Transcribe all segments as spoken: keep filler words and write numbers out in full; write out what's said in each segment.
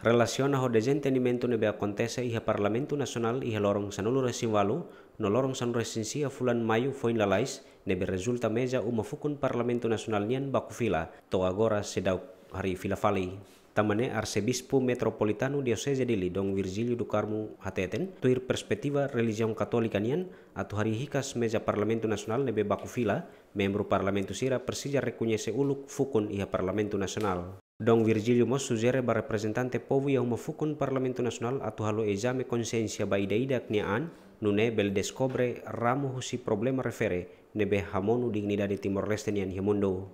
Relasiona ho dezentendimentu ne'ebé akontese iha Parlamentu Nasionál iha loron sanulu-resin-ualu no loron sanulu-resin-sia fulan Maiu foin lalais, ne'ebé rezulta meza uma fukun Parlamentu Nasionál nian baku fila, to'o agora seidauk harii fila fali. Tanba ne'e Arsebispu Metropolitanu Dioseze Dili, Dom Virgílio do Carmo hateten, tuir perspetiva relijiaun katólika nian, atu harii hikas meza Parlamentu Nasionál ne'ebé baku fila, membru Parlamentu sira presiza rekoñese uluk fukun iha Parlamentu Nasionál. Dom Virgílio mós sujere ba reprezentante povu iha uma fukun Parlamentu Nasionál atu halo ezame konxiénsia ba ida-idak nia an, nune'e bele deskobre ramu husi problema refere ne'ebé hamonu dignidade Timor-Leste nian iha mundu.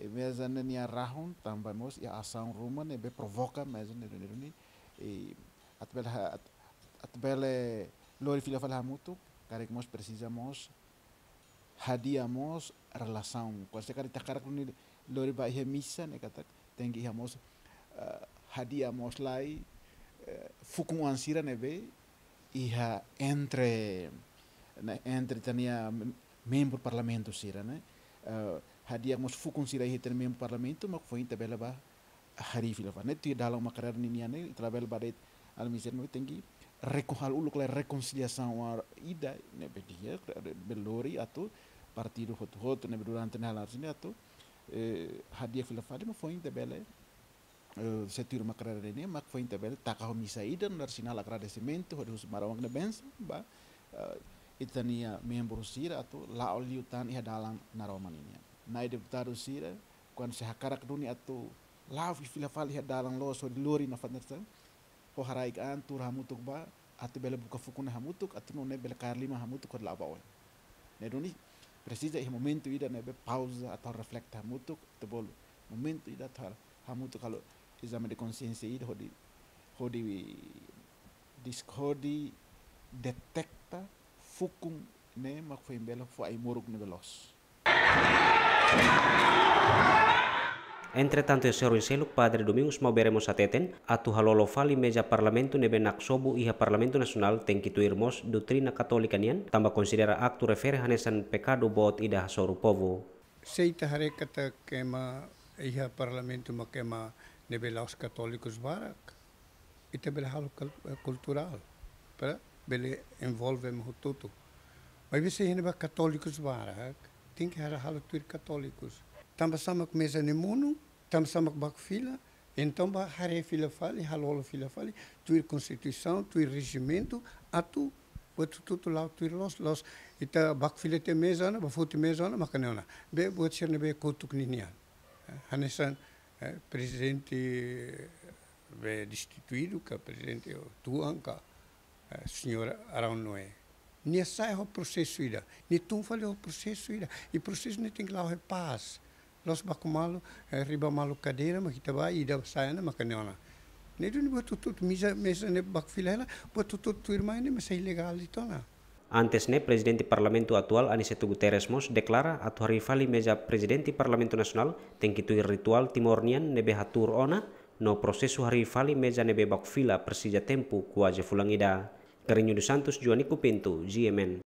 E meza ne'e nia rahun tanba mós iha asaun ruma ne'ebé provoka meza ne'e duni, duni, e atu bele ha-, atu, atu bele lori fila fali hamutuk, karik mós presiza mós hadi'a mós relasaun. Kuandu se karik ita hakarak duni lori ba iha misa ne'e katak tenke iha mós, eh, hadi'a mós lai, eh, fukun-oan sira ne'ebé iha entre, ne'e, entre ita-nia mem-, membru Parlamentu sira ne'e. Eh, hadi'a mós fukun sira iha ita-nia membru Parlamentu, mak foin ita bele ba harii fila fali. Ne'e tuir dalan uma karrera ninian ne'e, ita labele ba de'it almisir ne'e tenke reko-, halo uluk lai rekonsiliasaun ida ne'ebé di'ak, bele lori atu partidu hotu-hotu ne'ebé durante ne'e halo sini atu, eh, hadi'a fila fali, mak foin ita bele, eh, se tuir uma karrera ne'e, mak foin ita bele taka ho misa ida nu'udar sinál agradesimentu, hodi husu Maromak nia bensaun ba, eh, ita-nia membru sira atu la'o liután iha dalan naroman ninian. Na'i deputadu sira, kuandu se hakarak duni atu la'o fila fali iha dalan loos hodi lori nafatin sira, ho haraik an tuur hamutuk ba, atu bele buka fukun ne'e hamutuk, atu nune'e bele kaer liman hamutuk hodi la'o ba oin. Ne'e duni presiza iha momentu ida ne'ebé pauza atu reflete hamutuk, atu bolu momentu ida atu hal-, hamutuk halo ezame de konxiénsia ida hodi, hodi dis-, hodi deteta fukun ne'e mak foin bele fó ai-moruk ne'ebé loos. Entretantu, iha sorin seluk Padre Domingos Maubere mós hateten, atu halolo fali meza Parlamentu ne'ebé naksobu iha Parlamentu Nasionál tenke tuir mós doutrina katólika nian, tanba konsidera aktu refere hanesan pekadu boot ida hasoru povu. Se ita haree katak ema iha Parlamentu mak ema ne'ebé la'ós katólikus barak, ita bele halo kul-, eh, kulturál, para bele envolve ema hotu-hotu. Maibé se iha ne'ebá katólikus barak, tenke halo, halo tuir katólikus. Tanba sá mak meza ne'e monu, tanba sá mak baku fila, entaun bá haree fila fali, halolo fila fali, tuir konstituisaun, tuir rejimentu, atu buat hotu-hotu la'o tuir loos, loos. Ita baku fila tiha meza ona, bá foti meza ona, mak ne'e ona. Be buat sira ne'ebé kotuk ninian. Eh, hanesan, eh, prezidente, eh, be destituídu ka prezidente tuan ka, eh, señór Arão Noé. Nia sai ho prosesu ida, nia tun fali ho prosesu ida. I prosesu ne'e tenke la'o iha pás. La'ós baku malu, eh, riba malu kadeira, mak ita bá, ida sai ona, mak ne'e ona. Ne'e duni buat hotu-hotu, meza, meza ne'e baku fila hela, buat hotu-hotu tuirmai ne'e mós ilegál de'it ona. Antes ne'e, Prezidente Parlamentu atuál Aniceto Guterres mós deklara atu harii fali meza Prezidente Parlamentu Nasionál tenke tuir rituál Timor nian ne'ebé hatuur ona, no prosesu harii fali meza ne'ebé baku fila presiza tempu kuaze fulan ida. Carrinho dos Santos, Joanico Pinto, G M N.